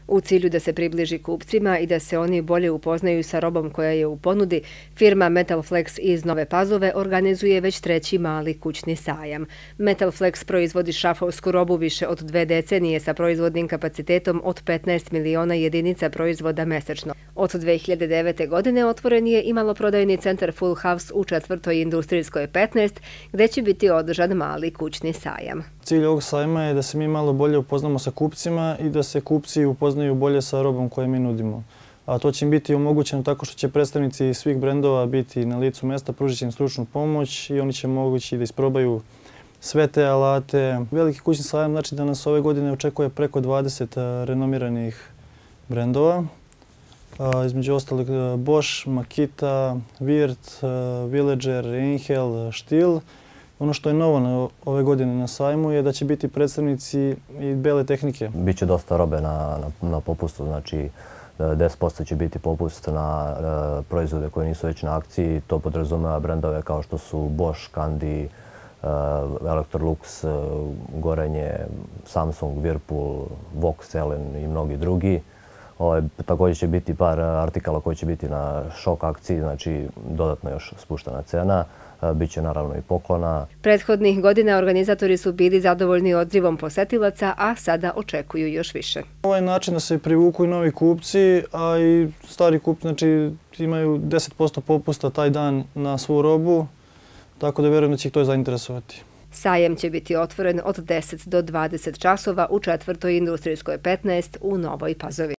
U cilju da se približi kupcima i da se oni bolje upoznaju sa robom koja je u ponudi, firma Metalflex iz Nove Pazove organizuje već treći mali kućni sajam. Metalflex proizvodi šrafovsku robu više od 2 decenije sa proizvodnim kapacitetom od 15 miliona jedinica proizvoda mesečno. Od 2009. godine otvoren je i maloprodajni centar Full House u 4. industrijskoj 15, gdje će biti održan mali kućni sajam. Cilj ovog sajma je da se mi malo bolje upoznamo sa kupcima i da se kupci upoznaju bolje sa robom koju mi nudimo. A to će im biti omogućeno tako što će predstavnici svih brendova biti na licu mesta, pružit će im stručnu pomoć i oni će mogući da isprobaju sve te alate. Veliki kućni sajam znači da nas ove godine očekuje preko 20 renomiranih brendova. Između ostalih Bosch, Makita, Wirth, Villager, Einhell, Stihl. Ono što je novo ove godine na sajmu je da će biti predstavnici i bele tehnike. Biće dosta robe na popustu, znači 10% će biti popust na proizvode koje nisu već na akciji. To podrazumeva brendove kao što su Bosch, Kandi, Electrolux, Gorenje, Samsung, Whirlpool, Vox, Elen i mnogi drugi. Također će biti par artikala koji će biti na šok akciji, znači dodatno još spuštena cena. Biće naravno i poklona. Prethodnih godina organizatori su bili zadovoljni odzivom posetilaca, a sada očekuju još više. Ovaj način da se privuku i novi kupci, a i stari kupci znači, imaju 10% popusta taj dan na svu robu, tako da vjerujem da će ih to zainteresovati. Sajam će biti otvoren od 10 do 20 časova u 4. industrijskoj 15 u Novoj Pazovi.